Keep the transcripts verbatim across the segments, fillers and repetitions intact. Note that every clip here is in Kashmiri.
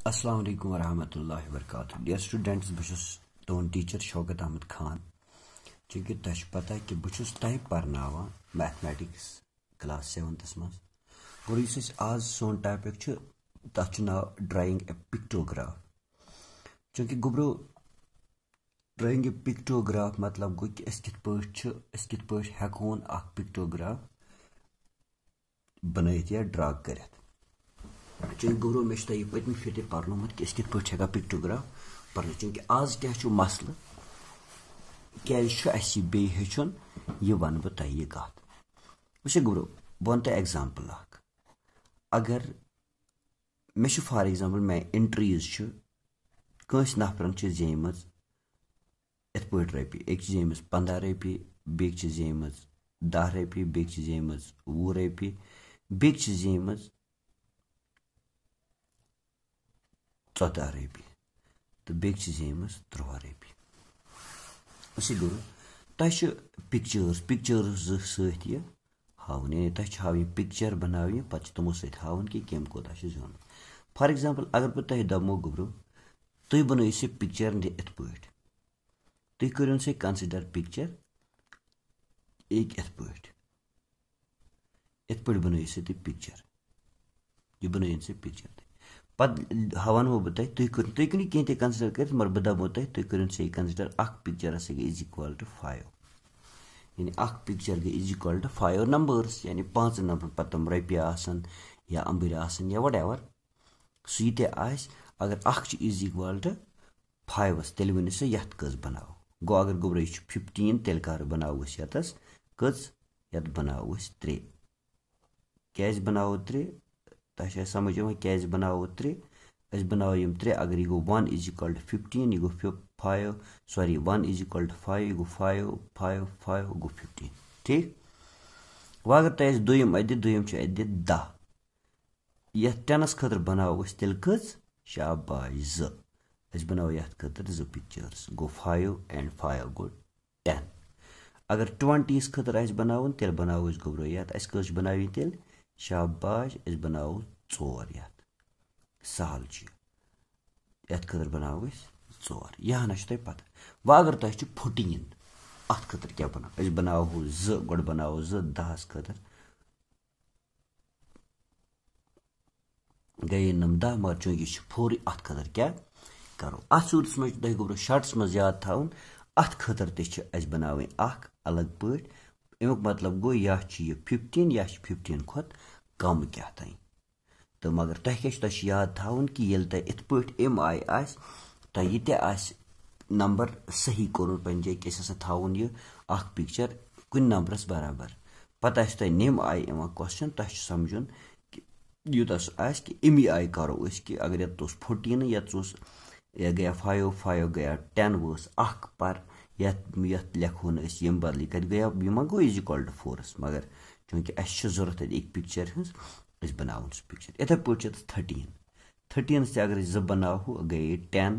السلام علیکم ورحمۃ اللہ وبرکاتہ۔ Dear students، بہٕ چھُس تُہُنٛد teacher شوکت احمد خان۔ چوٗنٛکہِ تۄہہِ چھُ پتہ کہِ بہٕ چھُس تۄہہِ پرناوان mathematics class seventh منٛز۔ گوٚو یُس أسۍ آز سون topic چھُ، تَتھ چھُ ناو drawing a pictograph۔ چوٗنٛکہِ گوٚبرو، drawing a pictograph مطلب گوٚو کہِ أسۍ کِتھ پٲٹھۍ چھِ، أسۍ کِتھ پٲٹھۍ ہٮ۪کہون اکھ pictograph بنٲیِتھ یا draw کٔرِتھ۔ چوٗنٛکہِ گوٚبرو، مےٚ چھُ تۄہہِ یہِ پٔتمہِ پھِرِ تہِ پرنومُت کہِ أسۍ کِتھ پٲٹھۍ چھِ ہٮ۪کان pictograph بنٲیِتھ۔ چوٗنٛکہِ آز کیٛاہ چھُ مسلہٕ، کیٛازِ چھُ اَسہِ یہِ بیٚیہِ ہیٚچھُن، یہِ وَنہٕ بہٕ تۄہہِ یہِ کَتھ۔ وٕچھ گوٚبرو، بہٕ وَنہٕ تۄہہِ example اکھ۔ اگر مےٚ چھُ، for example، مےٚ entries چھِ، کٲنٛسہِ نفرَن چھِ زیٖمٕژ یِتھ پٲٹھۍ رۄپیہِ، أکۍ چھِ زیٖمٕژ پنٛداہ رۄپیہِ، بیٚکۍ چھِ زیٖمٕژ دَہ رۄپیہِ، بیٚکۍ چھِ زیٖمٕژ وُہ رۄپیہِ، بیٚکۍ چھِ زیٖمٕژ ژۄداہ رۄپیہِ تہٕ بیٚکۍ چھِ زیٖمٕژ تُرٛواہ رۄپیہِ۔ أسۍ گوٚو، تۄہہِ چھِ pictures، pictures زٕ سۭتۍ یہِ ہاوُن، یعنی تۄہہِ چھِ ہاوٕنۍ، picture بناوٕنۍ، پتہٕ چھِ تِمو سۭتۍ ہاوُن کہِ کٔمۍ کوٗتاہ چھُ زیوٗنمُت۔ For example، اگر بہٕ تۄہہِ دَپمو گوٚبرو، تُہۍ بنٲیِو سا picture یہِ یِتھ پٲٹھۍ، تُہۍ کٔرِو سا consider picture أکۍ یِتھ پٲٹھۍ، یِتھ پٲٹھۍ بنٲیِو سا تُہۍ picture، یہِ بنٲیِو سا picture تُہۍ۔ پتہٕ ہاوَنہو بہٕ تۄہہِ، تُہۍ کٔرِو، تُہۍ کٔرِو کینٛہہ تہِ consider کٔرِتھ، مگر بہٕ دَپہو تۄہہِ، تُہۍ کٔرِو سا یہِ consider، اکھ picture ہسا گٔے is equal to five، یعنی اکھ picture گٔے is equal to five numbers، یعنی پانٛژن نمبرن پتہٕ تِم رۄپیہِ آسن یا اَمبٕرۍ آسن یا whatever، سُہ یہِ تہِ آسہِ، اگر اکھ چھُ is equal to five، تیٚلہِ ؤنِو سا یَتھ کٔژ بناوو۔ گوٚو اگر گوٚبرو یہِ چھُ fifteen، تیٚلہِ کر بناوو أسۍ یَتَس کٔژ؟ یَتھ بناوو أسۍ ترٛےٚ۔ کیٛازِ بناوو ترٛےٚ؟ تۄہہِ چھا سمجھ یِوان کیٛازِ بناوو ترٛےٚ؟ أسۍ بناوو یِم ترٛےٚ، اگر یہِ گوٚو one is equal to fifteen، یہِ گوٚو فِ-، five، sorry، one is equal to five، یہِ گوٚو five، five، five، گوٚو fifteen۔ ٹھیٖک؟ وۄنۍ اگر تۄہہِ اَسہِ دوٚیِم اَتہِ دِتھ، دوٚیِم چھُ اَتہِ دِتھ دَہ۔ یَتھ tenس خٲطرٕ بناوو أسۍ تیٚلہِ کٔژ؟ شاباش، زٕ۔ أسۍ بناوو یَتھ خٲطرٕ زٕ pictures۔ گوٚو five and five گوٚو ten۔ اگر twentyیَس خٲطرٕ آسہِ بناوُن، تیٚلہِ بناوو أسۍ گوٚبرو یَتھ۔ اَسہِ کٔژ چھِ بناوٕنۍ تیٚلہِ؟ شاباش، أسۍ بناوو ژور یَتھ۔ سہل چھُ یہِ۔ یَتھ خٲطرٕ بناوو أسۍ ژور۔ یہِ ہنا چھُ تۄہہِ پتہ۔ وۄنۍ اگر تۄہہِ چھُ fourteen، اَتھ خٲطرٕ کیٛاہ بناوو؟ أسۍ بناوہو زٕ، گۄڈٕ بناوو زٕ دَہَس خٲطرٕ۔ گٔیے نَم دَہ، مگر چوٗنٛکہِ یہِ چھُ فورٕے، اَتھ خٲطرٕ کیٛاہ کَرو؟ اَتھ صوٗرتَس منٛز چھُ تۄہہِ گوٚبرو شارٹَس منٛز یاد تھاوُن، اَتھ خٲطرٕ تہِ چھِ اَسہِ بَناوٕنۍ اَکھ الگ پٲٹھۍ۔ اَمیُک مطلب گوٚو، یا چھُ یہِ fifteen یا چھُ fifteen کھۄتہٕ کَم کیٛاہ تام۔ تہٕ مگر تۄہہِ کیٛاہ چھُ، تۄہہِ چھُ یاد تھاوُن کہِ ییٚلہِ تۄہہِ یِتھ پٲٹھۍ اَمہِ آیہِ آسہِ، تۄہہِ یہِ تہِ آسہِ نمبر صحیح کوٚرمُت پنٛنہِ جایہِ، کہِ أسۍ ہسا تھاوون یہِ اَکھ picture کُنہِ نمبرَس برابر۔ پَتہٕ آسہِ تۄہہِ نَمہِ آیہِ یِوان question، تۄہہِ چھُ سَمجھُن کہِ یوٗتاہ سُہ آسہِ کہِ اَمی آیہِ کَرو أسۍ کہِ اگر یَتھ اوس fourteen، یَتھ اوس، یہِ گٔیا five، five گٔیا ten، وٲژ اَکھ، پر یَتھ، یَتھ لیکھو نہٕ أسۍ ییٚمہِ بدلہٕ، یہِ کَتہِ گٔیا، یہِ ما گوٚو is equal to fourس، مگر چوٗنٛکہِ اَسہِ چھِ ضوٚرَتھ اَتہِ أکۍ picture ہٕنٛز، أسۍ بَناوون سُہ picture۔ یِتھَے پٲٹھۍ چھِ تَتھ thirteen۔ Thirteenس تہِ اگر أسۍ زٕ بَناوہو، گٔیے ten۔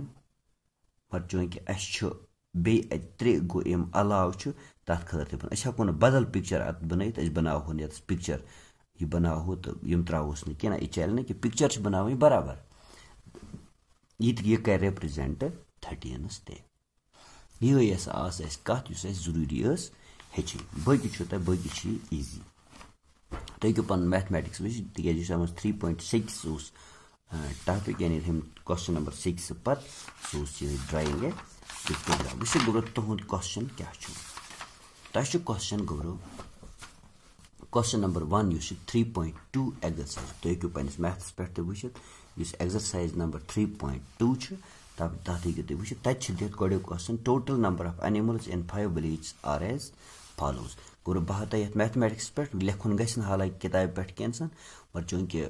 مگر چوٗنٛکہِ اَسہِ چھُ بیٚیہِ اَتہِ ترٛےٚ گوٚو، اَمہِ علاوٕ چھُ تَتھ خٲطرٕ تہِ بَناوُن۔ أسۍ ہٮ۪کو نہٕ بدل picture اَتھ بَنٲیِتھ، أسۍ بَناوہون یَتَس picture، یہِ بَناوہو تہٕ یِم ترٛاوہوس نہٕ کینٛہہ، نہ، یہِ چَلہِ نہٕ کینٛہہ، picture چھِ بَناوٕنۍ برابر۔ یہِ تہِ، یہِ کَرِ represent thirteenس تہِ۔ یِہوٚے ٲس آز اَسہِ کَتھ، یُس اَسہِ ضروٗری ٲس ہیٚچھِنۍ۔ باقٕے چھُو تۄہہِ، باقٕے چھِ یہِ easy۔ تُہۍ ہیٚکِو پَنُن mathematics وٕچھِتھ، تِکیٛازِ یُس اَتھ منٛز three point six اوس، آ، topic، یعنی ہُم question number six پَتہٕ، سُہ اوس یِہوٚے drawing a pictogram۔ وٕچھِو گوٚبرو، تُہُنٛد question کیٛاہ چھُ؟ تۄہہِ چھُ question گوٚبرو، question number one یُس چھُ three point two exercise، تُہۍ ہیٚکِو پنٛنِس mathsَس پٮ۪ٹھ تہِ وٕچھِتھ، یُس exercise number three point two چھُ، تَتھ، تَتھ ہیٚکِو تُہۍ وٕچھِتھ۔ تَتہِ چھِ دِتھ گۄڈٕنیُک question، total number of animals in five villages are as follows۔ گوٚو بہٕ ہاوٕ تۄہہِ یَتھ mathematicsَس پٮ۪ٹھ، لیکھُن گژھِ نہٕ حالانکہِ کِتابہِ پٮ۪ٹھ کینٛہہ ژھَن، مگر چوٗنٛکہِ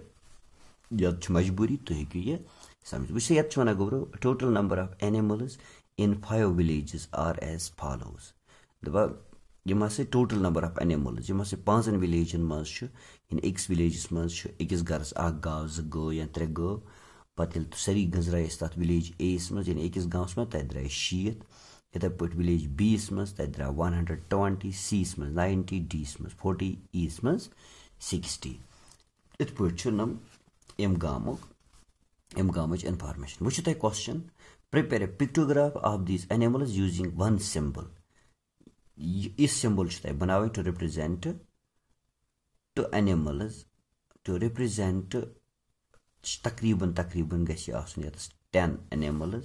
یَتھ چھِ مجبوٗری، تُہۍ ہیٚکِو یہِ سَمجھِتھ۔ وٕچھ سا، یَتھ چھِ وَنان گوٚبرو، total number of animals in five villages are as follows۔ دَپان، یِم ہسا total number of animals، یِم ہسا پانٛژن villageن منٛز چھُ، یعنی أکِس villageس منٛز چھُ أکِس گرس اکھ گاو، زٕ گٲو یا ترٛےٚ گٲو، پتہٕ ییٚلہِ سٲری گٔنٛزرایہِ أسۍ تتھ village A یس منٛز، یعنی أکِس گامس منٛز، تتہِ درٛایہِ شیٖتھ۔ یِتھے پٲٹھۍ village B یس منٛز، تتہِ درٛاو one hundred twenty، C یس منٛز ninety، D یس منٛز forty، E یس منٛز sixty۔ یِتھ پٲٹھۍ چھُ نم اَمہِ گامُک امہِ گامٕچ انفارمیشن۔ وۄنۍ چھُ تۄہہِ question, prepare a pictograph of these animals using one symbol۔ یہِ، یہِ سمبل چھُ تۄہہِ بناوٕنۍ to represent to animals to represent، تقریباً تقریباً گژھِ یہِ آسُن ییٚتس ten animals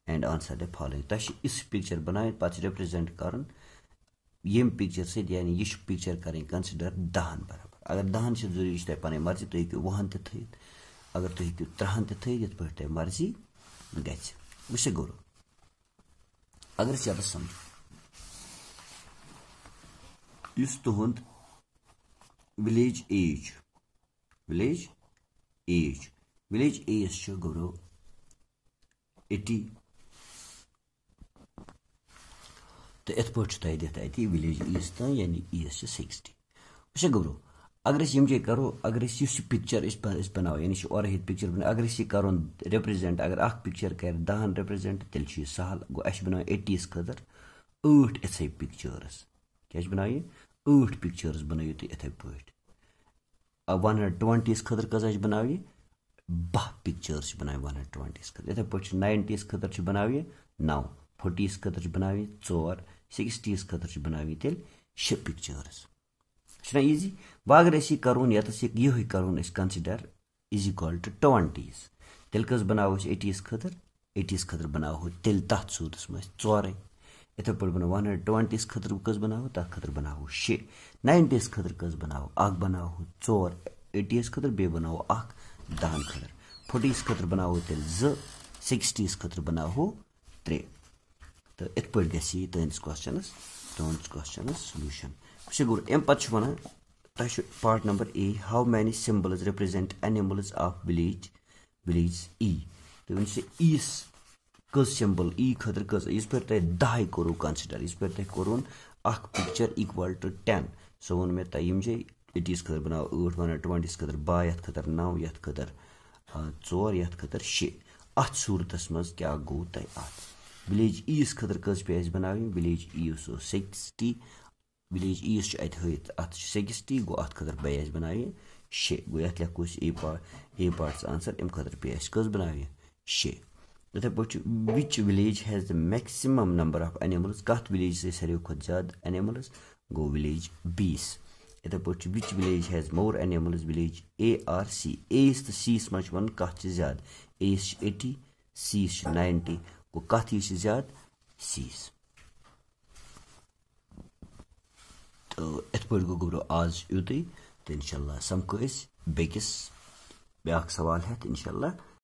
and answer the following۔ تۄہہِ چھِ یِژھ پکچر بناوٕنۍ، پتہٕ چھِ represent کرُن ییٚمہِ پکچر سۭتۍ، یعنی یہِ چھُ پکچر کرٕنۍ consider دہن برابر۔ اگر دہن چھِ ضروٗری، یہِ چھِ تۄہہِ پنٕنۍ مرضی، تُہۍ ہیٚکِو وُہن تہِ تھٲیِتھ، اگر تُہۍ ہیٚکِو ترٕہن تہِ تھٲیِتھ، یِتھ پٲٹھۍ تۄہہِ مرضی گژھِ۔ وٕچھِو گوٚو، اگر أسۍ یَتَس سَمجھو، یُس تُہُنٛد village age چھُ، village age، village age چھُ گوٚو eighty، تہٕ یِتھ پٲٹھۍ چھُ تۄہہِ دِتھ اَتہِ village age تام، یعنی age چھِ sixty۔ وٕچھا گوٚبرو، اگر أسۍ یِم جایہِ کَرو، اگر أسۍ یُس یہِ پِکچَر أسۍ بَ-، أسۍ بَناوو، یعنی چھِ اورٕ ییٚتہِ پِکچَر بَناوو، اگر أسۍ یہِ کَرون represent، اگر اَکھ پِکچَر کَرِ دَہَن represent، تیٚلہِ چھُ یہِ سَہَل۔ گوٚو، اَسہِ چھِ بَناوٕنۍ eighty یَس خٲطرٕ ٲٹھ یِتھَے pictures۔ کیٛاہ چھِ بَناوٕنۍ؟ ٲٹھ pictures بَنٲیِو تُہۍ یِتھَے پٲٹھۍ۔ آ، one hundred twenty یَس خٲطرٕ کۭژاہ چھِ بَناوٕنۍ؟ باہ pictures چھِ بَناوٕنۍ one hundred twenty یَس خٲطرٕ۔ یِتھَے پٲٹھۍ چھِ ninety یَس خٲطرٕ چھِ بَناوٕنۍ نَو، forty یَس خٲطرٕ چھِ بَناوٕنۍ ژور، sixty یَس خٲطرٕ چھِ بَناوٕنۍ تیٚلہِ شےٚ pictures۔ چھُنہ easy؟ وۄنۍ اگر أسۍ یہِ کَرون، یَتَس یہِ، یِہوٚے کَرون أسۍ consider is equal to twenty یَس، تیٚلہِ کٔژ بَناوو أسۍ eighty یَس خٲطرٕ؟ eighty یَس خٲطرٕ بَناوہو تیٚلہِ تَتھ صوٗرتَس منٛز ژورَے۔ یِتھَے پٲٹھۍ بَناو one hundred twenty یَس خٲطرٕ کٔژ بَناوو؟ تَتھ خٲطرٕ بَناوو شےٚ۔ ninety یَس خٲطرٕ کٔژ بَناوو؟ اَکھ بَناوہو ژور eighty یَس خٲطرٕ، بیٚیہِ بَناوو اَکھ دَہَن خٲطرٕ۔ forty یَس خٲطرٕ بَناوو تیٚلہِ زٕ، sixty یَس خٲطرٕ بَناوہو ترٛےٚ۔ تہٕ یِتھ پٲٹھۍ گژھِ یہِ تُہٕنٛدِس کوسچنَس، تُہٕنٛدِس کوسچنَس solution۔ وٕچھِو گوٚو، اَمہِ پَتہٕ چھُ وَنان، تۄہہِ چھُ part number A، how many symbols represent animals of village، village E؟ تُہۍ ؤنِو سا E یَس کٔژ symbol، E خٲطرٕ کٔژ؟ یِتھ پٲٹھۍ تۄہہِ دَہَے کوٚروٕ consider، یِتھ پٲٹھۍ تۄہہِ کوٚروٕ اَکھ picture equal to ten، سُہ ووٚن مےٚ تۄہہِ یِم جاے، eighty یَس خٲطرٕ بَناو ٲٹھ، one hundred twenty یَس خٲطرٕ باہ، یَتھ خٲطرٕ نَو، یَتھ خٲطرٕ، آ، ژور، یَتھ خٲطرٕ شےٚ۔ اَتھ صوٗرتَس منٛز کیٛاہ گوٚو تۄہہِ اَتھ؟ village E یَس خٲطرٕ کٔژ پیٚیہِ اَسہِ بَناوٕنۍ؟ village E یَس اوس sixty، village E یَس چھُ اَتہِ ہٲیِتھ، اَتھ چھِ sixty، گوٚو اَتھ خٲطرٕ پیٚیہِ اَسہِ بَناونہِ شےٚ۔ گوٚو یَتھ لیکھو أسۍ A پا-، A parts answer، اَمہِ خٲطرٕ پیٚیہِ اَسہِ کٔژ بَناونہِ؟ شےٚ۔ یِتھَے پٲٹھۍ چھُ، which village has the maximum number of animals؟ کَتھ village سۭتۍ ساروِیو کھۄتہٕ زیادٕ animals؟ گوٚو village B یَس۔ یِتھَے پٲٹھۍ چھُ، which village has more animals؟ village A or C؟ A یَس تہٕ C یَس منٛز چھُ وَنُن کَتھ چھِ زیادٕ؟ A یَس چھِ eighty، C یَس چھِ ninety۔ گوٚو کَتھ یہِ چھِ زیادٕ؟ C یَس۔ تہٕ یِتھ پٲٹھۍ گوٚو گوٚبرو آز یُتُے، تہٕ اِنشاءاللہ سَمکھو أسۍ بیٚکِس بیٛاکھ سوال ہٮ۪تھ اِنشاءاللہ۔